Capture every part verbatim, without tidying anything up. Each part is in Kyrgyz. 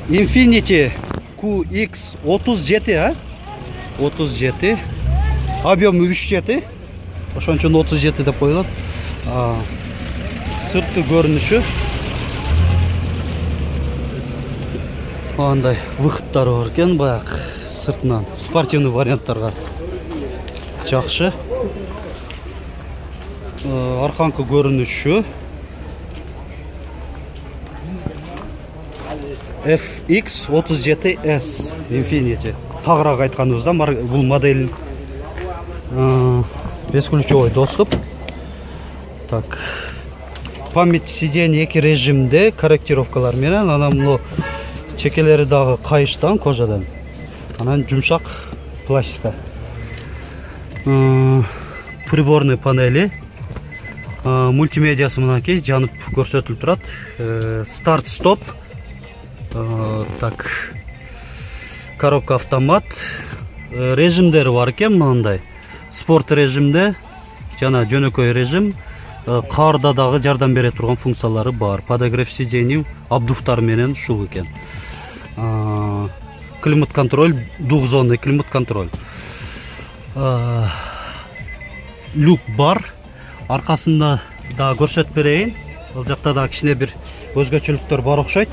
Infiniti Q X отуз жети, а? отуз жети. Объем үч жети. Ошон үчүн отуз жети деп коюлат. Сыртқы көрүнүшү. Андай выходтары бар экен, баягы сыртынан спортивный варианттарга жакшы. Арканкы көрүнүшү F X отуз жети S Infiniti. Тагыраак айтканыбызда бул модель бесключевой доступ. Так. Память сиденья эки режимде, корректировкалар менен, анан мына чекелери дагы кайыштан, кожадан. Анан жумшак пластика. Приборный панели. Мультимедиасы мынакей жанып көрсөтүлүп турат. Старт-стоп. Так. Коробка автомат. Режимдери бар экен мындай. Спорт режимде жана жөнөкөй режим. Карда дагы жардам бере турган функциялары бар. Подогрев сидений, обдувтар менен ушул экен. Климат контроль, двухзонный климат контроль. Люк бар. Аркасында да көрсөтүп берейин. Ал жакта да кичине бир өзгөчөлүктөр бар окшойт.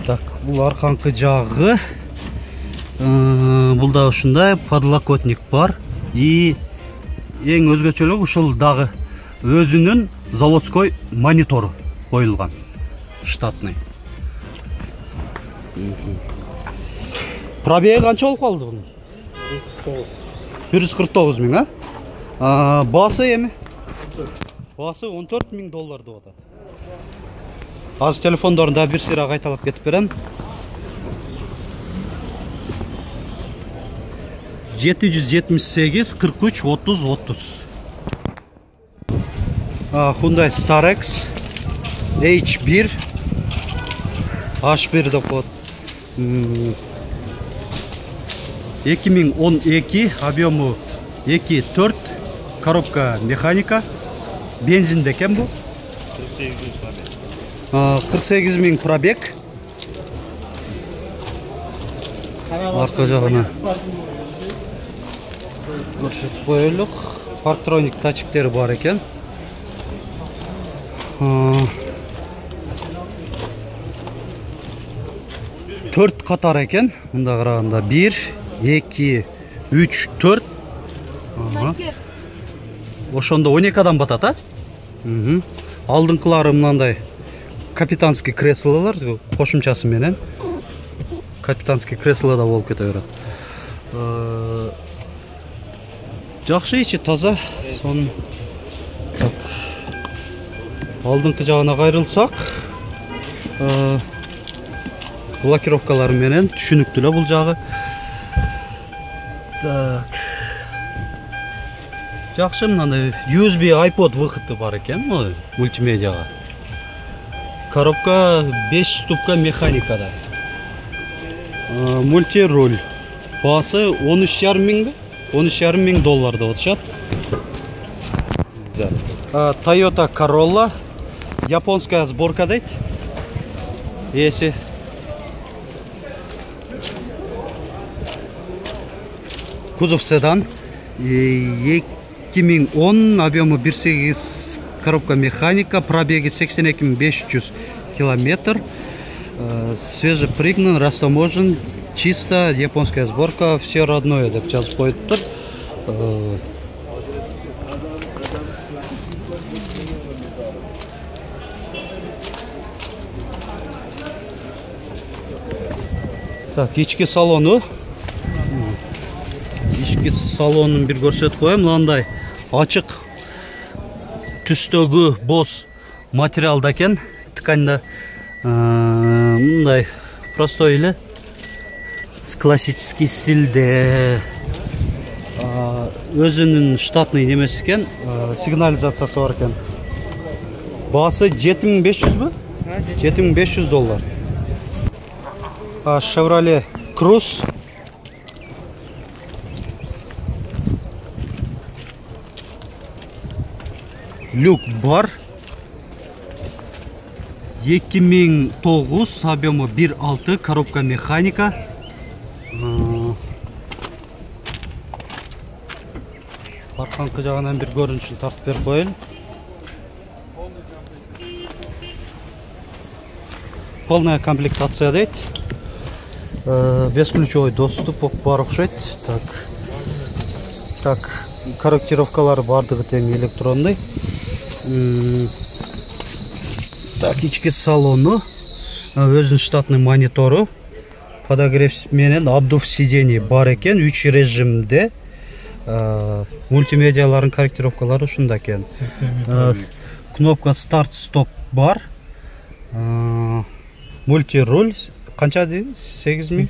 Так, бул арканкы жагы. Бул да ушундай подлокотник бар. И эң өзгөчөлүгү ушул дагы өзүнүн заводской монитору коюлган. Штатный. Пробеги канча болуп калды бунун? бир жүз кырк тогуз миң, а? Баасы эми? Баасы он төрт миң доллар деп атат. Азыр телефондорун да бир сыйра кайталап кетип берем. жети жүз жетимиш сегиз кырк үч отуз отуз. Hyundai Starex H бир H бир деп коет. эки миң он эки, объему эки төрт, коробка механика, бензинде экен бу. кырк сегиз миң пробег. Арка жагына көрсөтүп коелук. Парктроник датчиктери бар экен. төрт катар экен. Мында караганда бир, эки, үч, төрт. Ошондо он эки адам батат, а? Алдыңкылары мындай капитанский креслолор кошумчасы менен. Капитанский креслода болуп кете берет. Жакшы, ичи таза. Сон так. Алдыңкы жагына кайрылсак, блокировкалар менен түшүнүктүү бул жагы. Так. Жакшы, мындай ю эс би iPod выходу бар экен, мультимедиага. Коробка беш ступка механикада. Мультируль. Баасы он үч жарым миң, он үч жарым миң доллар деп атышат. Toyota Corolla. Японская сборка дейт. Эси. Кузов седан. эки миң он, объему бир сегиз, коробка механика, пробеги сексен эки миң беш жүз километр. Свежепригнан, растаможен, чисто, японская сборка, все родное деп жазып коюптур. Так, ички салону. Ички салонун бир көрсөтүп коем. Мындай ачык түстөгү боз материалда экен. Тканда мындай простой эле, классический стилде. Өзүнүн штатный немеси экен, сигнализациясы бар экен. Баасы жети миң беш жүзбү? жети миң беш жүз доллар. Chevrolet Cruze. Люк бар. эки миң тогуз, объему бир алты, коробка механика. Арканкы жагынан бир көрүнүшүн тартып берип коелу. Полная комплектация дейт. Бесключевой доступ бар окшойт. Так. Так, корректировкалары бардыгы тең электронный. Так, ички салону, өзүнүн штатный монитору, подогрев менен обдув сидений бар экен, үч режимде. Мультимедиаларын корректировкалары ушунда экен. Кнопка старт стоп бар. Мультируль канча дейм? сегиз миң?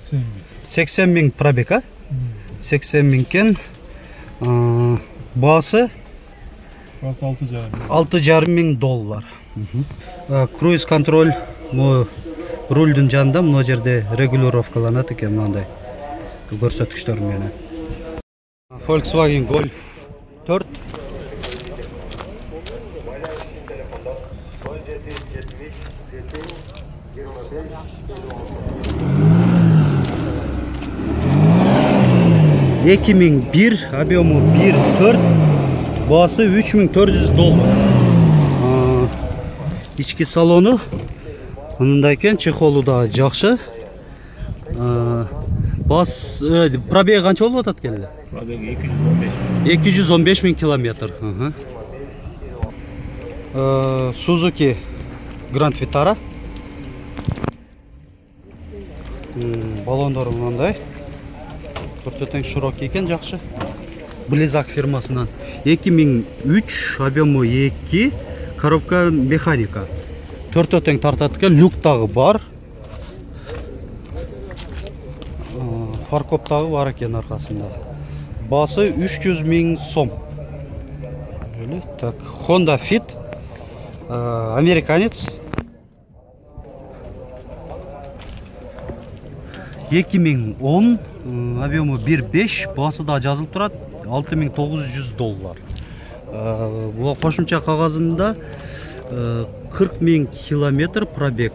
сексен миң пробег, а? сексен миң кен. Баасы алты жарым миң доллар. Круиз контроль рульдун жанында, мына жерде регулировкаланат экен мындай көрсөткүчтөр менен. Volkswagen Golf төрт. эки миң бир, объему бир төрт, баасы үч миң төрт жүз доллар. Ички салону мындай экен, чехолу да жакшы. Бас пробеги канча болуп атат экен эле? Пробеги эки жүз он беш миң. эки жүз он беш миң километр. Suzuki Grand Vitara. Балондору мындай. Төртөтең широкий экен, жакшы. Близак фирмасынан. эки миң үч, объему эки, коробка механика. Төртөтең тартат экен, люк дагы бар. Фаркоп дагы бар экен аркасында. Баасы үч жүз миң сом. Так, Honda Fit, американец. эки миң он, объему бир беш, баасы да жазылып турат, алты миң тогуз жүз доллар. Бул кошумча кагазында кырк миң километр пробег.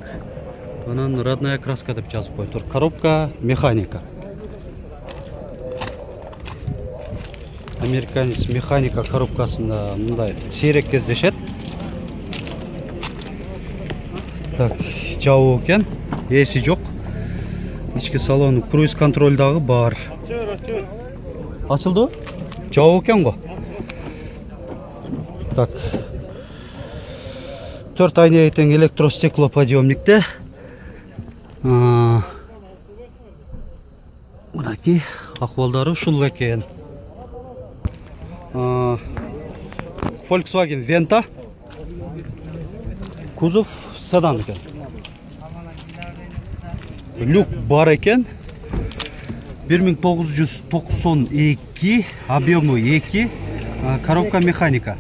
Анан родная краска деп жазып коюптур. Коробка механика. Американец механика коробкасында мындай сейрек кездешет. Так, жабуу экен, эси жок. Ички салону круиз контроль дагы бар. Ачылды? Жабуу экен го. Так. төрт айна тең электростеклоподъемникте. Мынакей акыбалдары ушул экен. Volkswagen Venta. Кузов седан экен. Люк бар экен. бир миң тогуз жүз токсон эки, объему эки, коробка механика.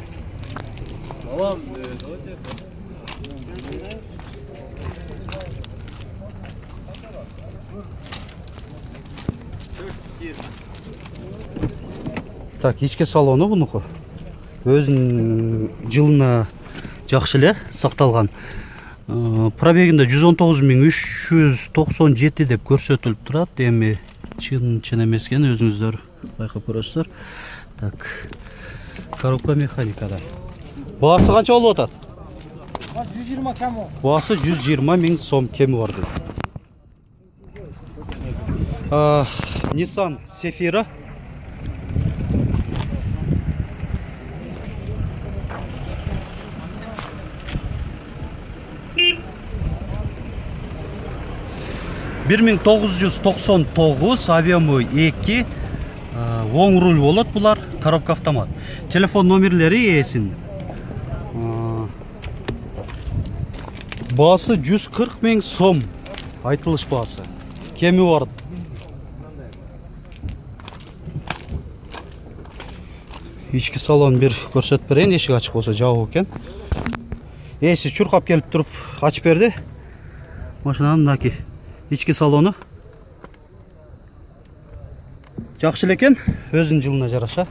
Так, ички салону бунуку. Өзүнүн жылына жакшы эле сакталган. Пробегинде жүз он тогуз миң үч жүз токсон жети деп көрсөтүлүп турат. Эми чын чын эмес экен, өзүңүздөр байкап көрөсүздөр. Так. Коробка механикада. Баасы канча болуп атат? жүз жыйырма кем. Баасы жүз жыйырма миң сом кеми бар дейт. Nissan Zafira. бир миң тогуз жүз токсон тогуз, объему эки, оң руль болот булар, коробка автомат. Телефон номерлери эсин. Баасы жүз кырк миң сом, айтылыш баасы. Кеми бар. Ички салон бир көрсөтүп берейин, эшик ачык болсо жабуу экен. Эси чуркап келип туруп ачып берди. Машинанын мынакей ички салону жакшы экен, өзүнүн жылына жараша.